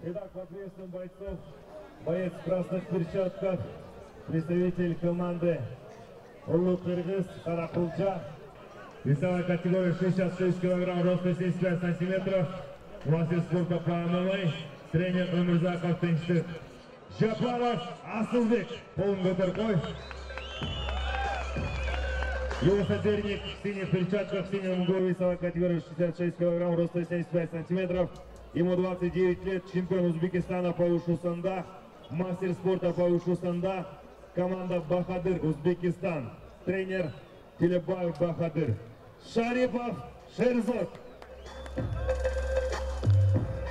Итак, в ответственном бойцов, боец в красных перчатках, представитель команды Улу-Кыргыз Каракулча. Весовая категория 66 кг, рост 75 сантиметров. Мастер спорта по ММА, тренер Өмүрзаков Тынчтык. Жапаров Асылбек, полын көтөркөй. Его соперник в синих перчатках, в синем углу, весовая категория 66 кг, рост 75 сантиметров. Ему 29 лет, чемпион Узбекистана по ушу санда, мастер спорта по ушу санда, команда Бахадыр Узбекистан, тренер Телебаев Бахадыр. Шарипов Шерзот.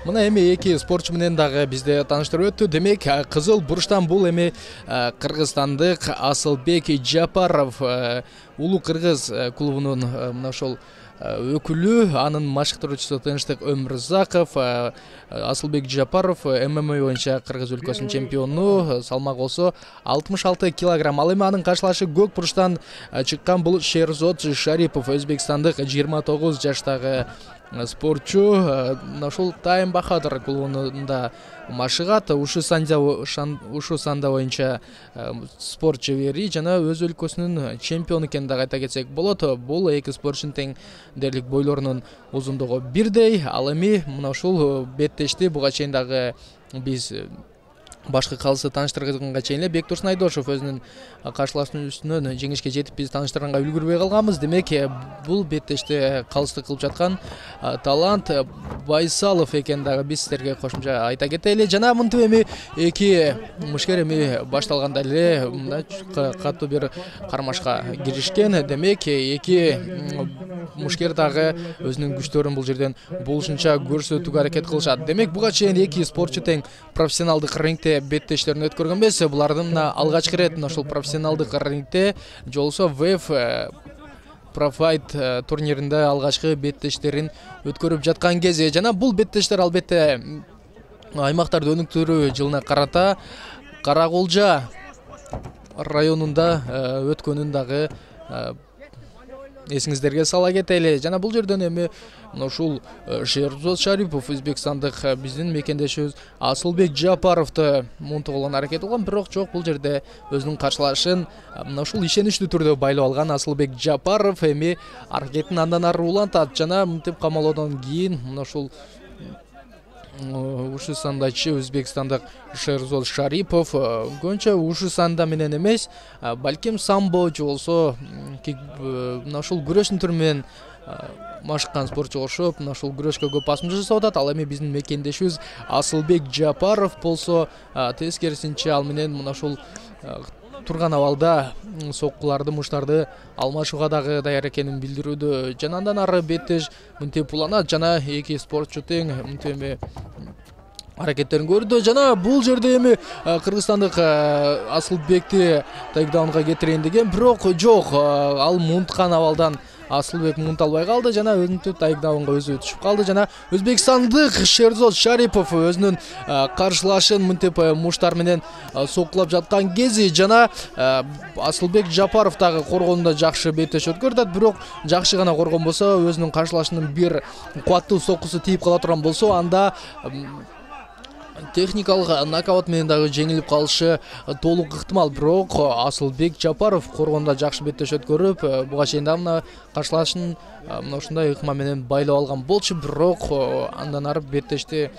Мына эми эки спортчу менен дагы бизде тааныштырып өттү. Демек, кызыл бурчтан бул эми кыргызстандык Асылбек Жапаров, Улу-Кыргыз клубунун мына ошол өкүлү, анын машыктыруучусу Тынчтык Өмүрзаков. Асылбек Жапаров ММА боюнча Кыргыз өлкөсүнүн чемпиону, салмак болсо 66 кг. Ал эми анын каршылашы көк бурчтан чыккан бул Шерзот Шарипов, өзбекстандык 29 жаштагы спортчу. Ошол Тайм Бахадыр клубунда машыгат. Ушу санда боюнча спорт шебери жана өз өлкөсүнүн чемпиону экенин дагы айта кетсек болот. Бул эки спортчунун тең дерлик бойлорунун узундугу бирдей. Ал эми мына ушул беттешти буга чейин дагы биз башкы калысы тааныштырганга чейин эле Бектурсун Айдошев өзүнүн каршылашуусунун жеңишке жетип биз тааныштырганга үлгүрбөй калганбыз. Демек, бул беттеште калыстык кылып жаткан Талант Байсалов экенин дагы биз сиздерге кошумча айта кетели. Жана мынтип эми эки мушкер эми башталганда эле мындай катуу бир кармашка киришкен. Демек, эки мушкер дагы өзүнүн күчтөрүн бул жерден болушунча көрсөтүүгө аракет кылышат. Демек, буга чейин эки спортчу тең профессионалдык рингте беттештерин өткөргөн эмес. Булардын алгачкы ирет ошол профессионалдык рингте жолсо ВФ Профайт турниринде алгачкы беттештерин өткөрүп жаткан кези. Жана бул беттештер албетте аймактарды өнүктүрүү жылына карата Каракулча районунда өткөнүн дагы эсиңиздерге сала кетели. Жана бул жерден эми ушул Шерзот Шарипов, өзбекстандык биздин мекендешибиз Асылбек Жапаровду мунтугулган аракет кылган, бирок жок, бул жерде өзүнүн каршылашын ушул ишеничтүү түрдө байлап алган Асылбек Жапаров эми аракетин андан ары улантат. Жана мынтип камалоодон кийин ушул ушу сандачы өзбекстандык Шерзот Шарипов көбүнчө ушу санда менен эмес, балким самбо же болсо мына ушул күрөштүн түрү менен машыккан спортчуга окшоп, мына ушул күрөшкө көп басым жасап атат. Ал эми биздин мекендешибиз Асылбек Жапаров болсо тескерисинче ал менен мына ушул турган абалда соккуларды, муштарды алмашууга дагы даяр экенин билдирүүдө. Жана андан ары беттеш мынтип уланат жана эки спортчу тең мынтип эми аракеттерин көрдү. Жана бул жерде эми кыргызстандык Асылбекти тейкдаунга кетирейин деген, бирок жок, ал мунткан абалдан Асылбек мунта албай калды жана өзүнүн тейкдаунга өзү түшүп калды. Жана өзбекстандык Шерзот Шарипов өзүнүн каршылашын мынтип муштар менен соккулап жаткан кези жана Асылбек Жапаров дагы коргонунда жакшы беттеш өткөрүп атат, бирок жакшы гана коргон болсо, өзүнүн каршылашынын бир кубаттуу соккусу тийип кала турган болсо, анда техникалык нокаут менен дагы жеңилип калышы толук ыктымал. Бирок Асылбек Жапаров коргонунда жакшы беттеш өткөрүп, буга чейин да мына каршылашын мына ушундай ыкма менен байлап алган болчу, бирок андан ары беттешти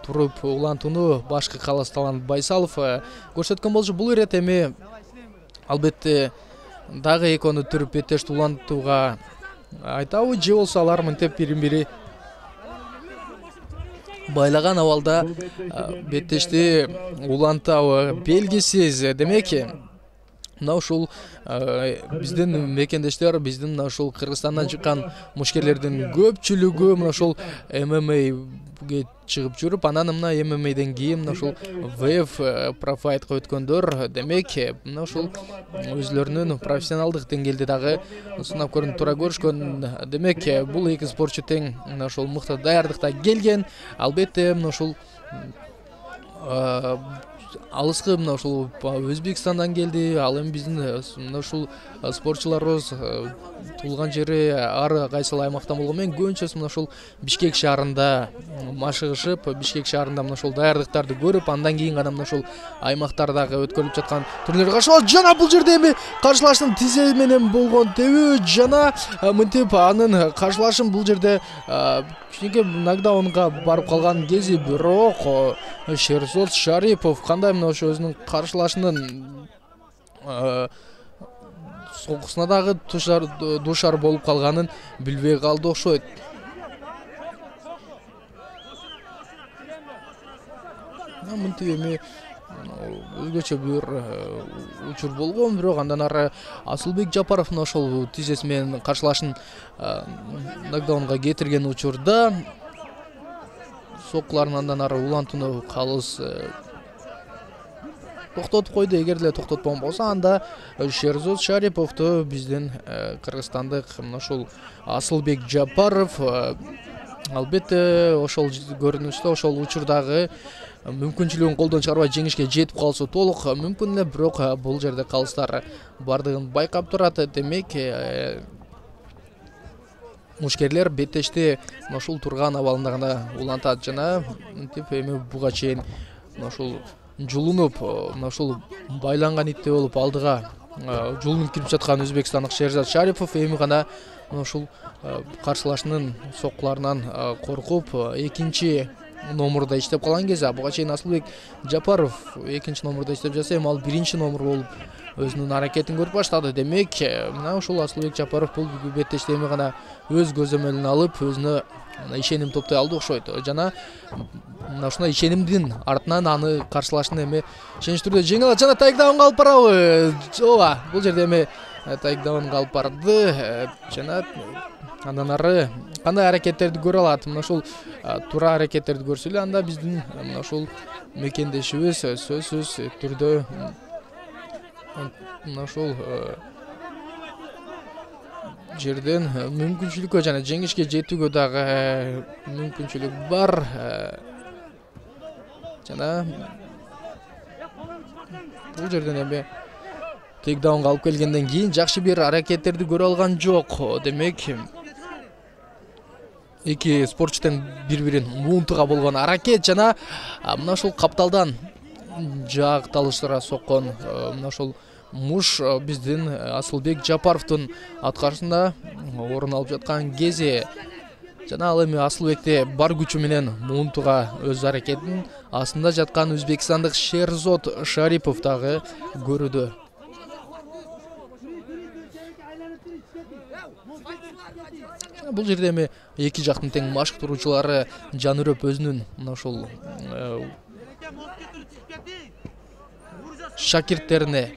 туруп улантууну башкы калыс Талант Байсалов көрсөткөн болчу. Бул ирет эми албетте дагы экөөнү түрүп беттешти улантууга айтабы, же болсо алар мынтип бирин-бири байлаган абалда беттешти улантабы белгисиз. Демек, мына ушул биздин мекендештер, биздин мына ушул Кыргызстандан чыккан мушкерлердин көпчүлүгү мына ушул ММАге чыгып жүрүп, анан мына ММАден кийин мына ушул ВФ Профайтка өткөндөр. Демек, мына ушул өзлөрүнүн профессионалдык деңгээлде дагы сынап көрүнүп тура көрүшкөн. Демек, бул эки спортчу тең мына ушул мыкты даярдыкта келген. Албетте, мына ушул алыскы мына ушул Өзбекстандан келди. Ал эми биздин мына ушул спортчуларыбыз туулган жери ар кайсыл аймактан болгону менен көбүнчөсү мына ушул Бишкек шаарында машыгышып, Бишкек шаарында мына ушул даярдыктарды көрүп, андан кийин гана мына ушул аймактардагы өткөрүлүп жаткан турнирлерге катышат. Жана бул жерде эми каршылаштын тизе менен болгон тебүү жана мынтип анын каршылашын бул жерде кичинекей нокдаунга барып калган кези, бирок Шерзод Шарипов кандай мына ошо өзүнүн каршылашынын сокусуна дагы дуушар болуп калганын билбей калды окшойт. Мынтип эми өзгөчө бир учур болгон, бирок андан ары Асылбек Жапаров мына ошол тизеси менен каршылашын нокдаунга кетирген учурда соккуларын андан ары улантууну калыс токтотуп койду. Эгер деле токтотпогон болсо, анда Шерзод Шариповду биздин кыргызстандык мына ушул Асылбек Жапаров албетте ошол көрүнүштө, ошол учурдагы мүмкүнчүлүгүн колдон чыгарбай жеңишке жетип калышы толук мүмкүн эле, бирок бул жерде калыстар бардыгын байкап турат. Демек мушкерлер беттешти мына ушул турган абалында гана улантат жана мынтип эми буга чейин мына ушул жулунуп, мына ушул байланган итте болуп алдыга жулунуп кирип жаткан өзбекстандык Шерзод Шарипов эми гана мына ушул каршылашынын соккуларынан коркуп экинчи номурда иштеп калган кезде, буга чейин Асылбек Жапаров экинчи номурда иштеп жатса, эми ал биринчи номур болуп өзүнүн аракетин көрүп баштады. Демек мына ушул Асылбек Жапаров бул беттешти эми гана өз көзөмөлүнө алып, өзүнө ишеним топтой алды окшойт. Жана мына ушундай ишенимдин артынан аны каршылашын эми ишенич түрдө жеңе алат. Жана тайкдаунга алып барабы? Ооба, бул жерде эми тайкдаунга алып барды. Жана андан ары кандай аракеттерди көрө алат? Мына ушул туура аракеттерди көрсө эле, анда биздин мына ушул мекендешибиз сөзсүз түрдө мына ушул жерден мүмкүнчүлүккө жана жеңишке жетүүгө дагы мүмкүнчүлүк бар. Жана бул жерден эми тейкдаунга алып келгенден кийин жакшы бир аракеттерди көрө алган жок. Демек эки спортчу тең бири-бирин муунтуга болгон аракет жана мына ушул капталдан жаакталыштыра соккон мына ушул муш биздин Асылбек Жапаровдун аткарышында орун алып жаткан кези. Жана ал эми Асылбекте бар күчү менен муунтуга өз аракетин астында жаткан өзбекстандык Шерзод Шарипов дагы көрүүдө. Бул жерде эми эки жактын тең машыктыруучулары жанырып өзүнүн мына ушул шакирттерине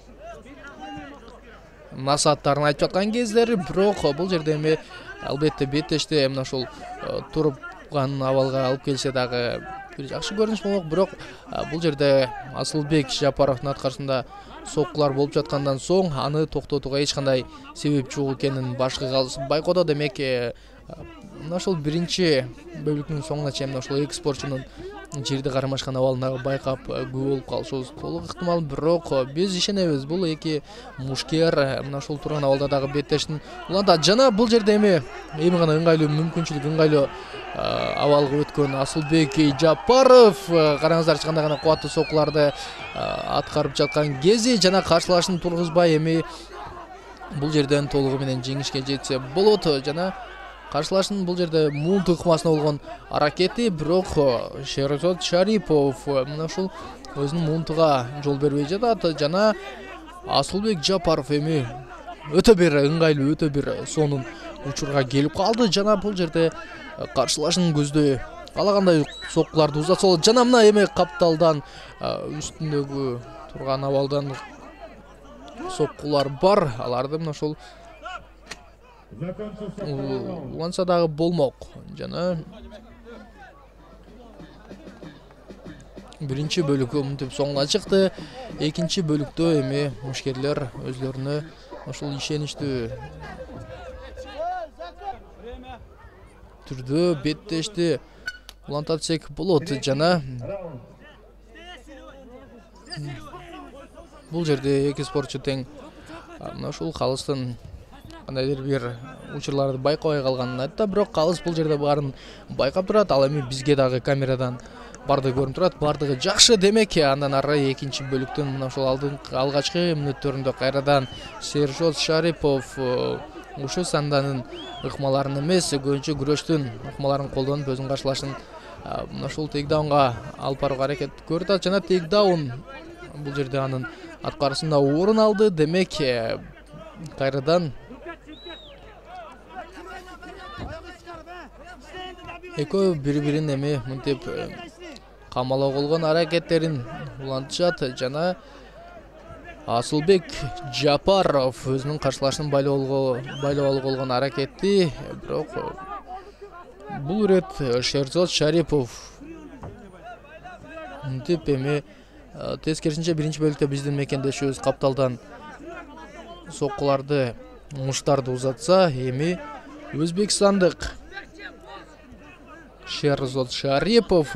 насааттарын айтып жаткан кездери, бирок бул жерде эми албетте беттешти мына ушул турган абалга алып келсе дагы бир жакшы көрүнүш болмок. Бирок бул жерде Асылбек Жапаровдун аткарышында соккулар болуп жаткандан соң аны токтотууга эч кандай себеп жок экенин башкы байкоодо. Демек мына ушул биринчи бөлүктүн соңуна чейин мына ушул эки спортчунун жерди кармашкан абалында байкап күбө болуп калышыбыз толук ыктымал. Бирок биз ишенебиз, бул эки мушкер мына ушул турган абалда дагы беттештин улантат. Жана бул жерде эми гана ыңгайлуу мүмкүнчүлүк, ыңгайлуу абалга өткөн Асылбек Жапаров караңыздарчы кандай гана кубаттуу соккуларды аткарып жаткан кези, жана каршылашын тургузбай эми бул жерден толугу менен жеңишке жетсе болот. Жана каршылашын бул жерде муунтук ыкмасына болгон аракети, бирок Шерзод Шарипов мына ушул өзүнүн муунтуга жол бербей жатат. Жана Асылбек Жапаров эми өтө бир ыңгайлуу, өтө бир сонун учурга келип калды. Жана бул жерде каршылашын көздөй каалагандай соккуларды узатса болот. Жана мына эми капталдан үстүндөгү турган абалдан соккулар бар. Аларды мына ушул уланса дагы болмок. Жана биринчи бөлүк мынтип соңуна чыкты. Экинчи бөлүктө эми мушкерлер өзлөрүнө ушул ишеничтүү түрдө беттешти улантат десек болот. Жана бул жерде эки спортчу тең. Мына ушул калыстын кандайдыр бир учурларды байкабай калганын айтты, бирок калыс бул жерде баарын байкап турат. Ал эми бизге дагы камерадан бардыгы көрүнүп турат. Бардыгы жакшы. Демек, андан ары экинчи бөлүктүн мына ушул алгачкы мүнөттөрүндө кайрадан Сержот Шарипов ушу санданын ыкмаларын эмес, көбүнчө күрөштүн ыкмаларын колдонуп өзүнүн каршылашын мына ушул тейкдаунга алып барууга аракет көрүп атат. Жана тейкдаун бул жерде анын аткарысында орун алды. Демек, кайрадан экөө бири-бирин эми мынтип камалоо болгон аракеттерин улантышат. Жана Асылбек Жапаров өзүнүн каршылашын байлоо алууга болгон аракетти, бирок бул ирет Шерзот Шарипов мынтип эми тескерисинче биринчи бөлүктө биздин мекендешибиз капталдан соккуларды, муштарды узатса, эми өзбекстандык Шерзот Шарипов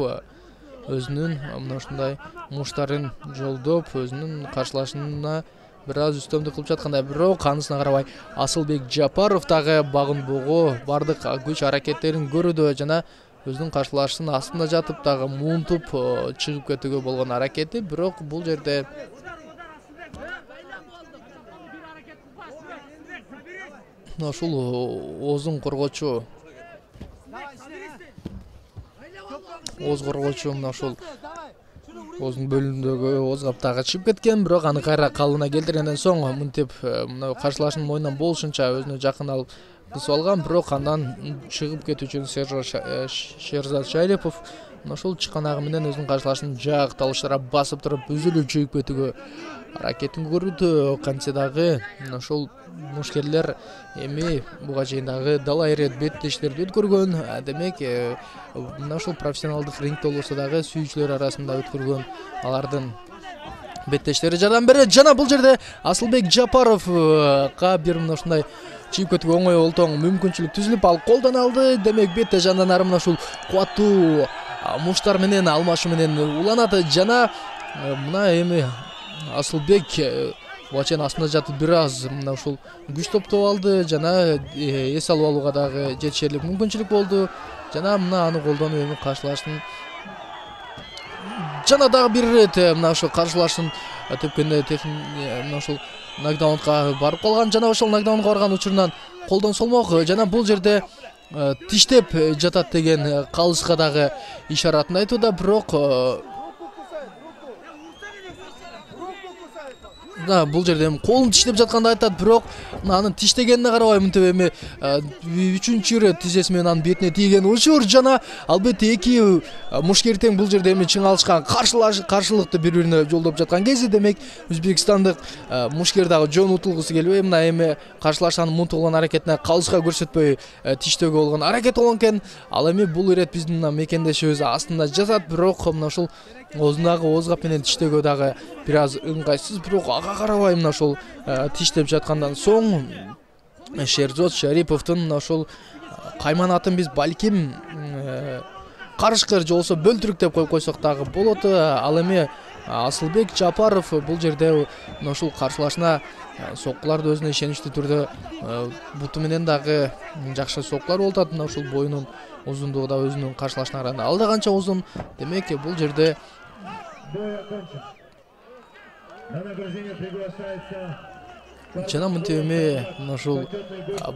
өзүнүн мына ушундай муштарын жолдоп, өзүнүн каршылашына бир аз үстөмдүк кылып жаткандай. Бирок анысына карабай Асылбек Жапаров дагы багынбоого бардык күч аракеттерин көрүүдө жана өзүнүн каршылашынын астында жатып дагы муунтуп чыгып кетүүгө болгон аракети. Бирок бул жерде ушул оозун коргоочу мына ушул оозунун бөлүмүндөгү ооз каптагы чыгып кеткен, бирок аны кайра калыбына келтиргенден соң мынтип мына каршылашынын мойнунан болушунча өзүнө жакын алып кысып алган. Бирок андан чыгып кетүү үчүн Шерзот Шарипов мына ушул чыканагы менен өзүнүн каршылашын жак талыштыра басып туруп үзүлүп чыгып кетүүгө аракетин көрүүдө. Кантсе дагы мына ушул мушкерлер эми буга чейин дагы далай ирет беттештерди өткөргөн. Демек, мына ушул профессионалдык рингде болбосо дагы сүйүүчүлөр арасында өткөргөн алардын беттештери жардам берет. Жана бул жерде Асылбек Жапаровга бир мына ушундай чыгып кетүүгө оңой олтоң мүмкүнчүлүк түзүлүп, ал колдон алды. Демек, беттеш андан ары мына ушул кубаттуу муштар менен алмашуу менен уланат. Жана мына эми Асылбек буга чейин астында жатып бир аз мына ушул күч топтоп алды жана эс алып алууга дагы жетишерлик мүмкүнчүлүк болду. Жана мына аны колдонуп эми каршылаштын жана дагы бир ирет мына ушул каршылашын тепкенде мына ушул нокдаунга барып калган. Жана ошол нокдаунга барган учурунан колдон солмок жана бул жерде тиштеп жатат деген калыска дагы ишаратын айтууда. Бирок бул жерде колун тиштеп жатканды айтат, бирок анын тиштегенине карабай мынтип эми үчүнчү ирет тизеси менен анын бетине тийген учур. Жана албетте эки мушкер тең бул жерде эми чың алышкан, каршылыкты бири-бирине жолдоп жаткан кези. Демек, өзбекстандык мушкер дагы жөн утулгусу келбей мына эми каршылашанын муунтуп алган аракетине калыска көрсөтпөй тиштөөгө болгон аракет болгон экен. Ал эми бул ирет биздин мекендешибиз астында жатат, бирок мына ушул оозундагы ооз кап менен тиштөөгө дагы бир аз ыңгайсыз. Бирок ага карабай мына ушул тиштеп жаткандан соң Шерзот Шариповдун мына ушул кайманатын биз балким карышкыр же болбосо бөлтүрүк деп коюп койсок дагы болот. Ал эми Асылбек Жапаров бул жерде мына ушул каршылашына соккуларды өзүнө ишеничтүү түрдө буту менен дагы жакшы соккулар болуп атат. Мына ушул боюнун узундугу да өзүнүн каршылашына караганда ал да канча узун. Демек, бул жерде жана мынтип эми мына ушул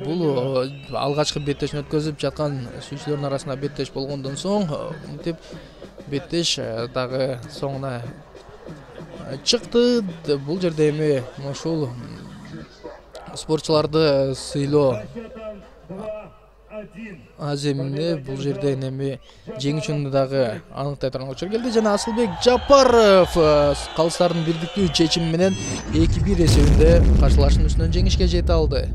бул алгачкы беттешин өткөзүп жаткан сүйүүчүлөрдүн арасында беттеш болгондон соң мынтип беттеш дагы соңуна чыкты. Бул жерде эми мына ушул спортчуларды сыйлоо аземине бул жерден эми жеңүүчүнү дагы аныктай турган учур келди. Жана Асылбек Жапаров калыстардын бирдиктүү чечими менен 2-1 эсебинде каршылашынын үстүнөн жеңишке жете алды.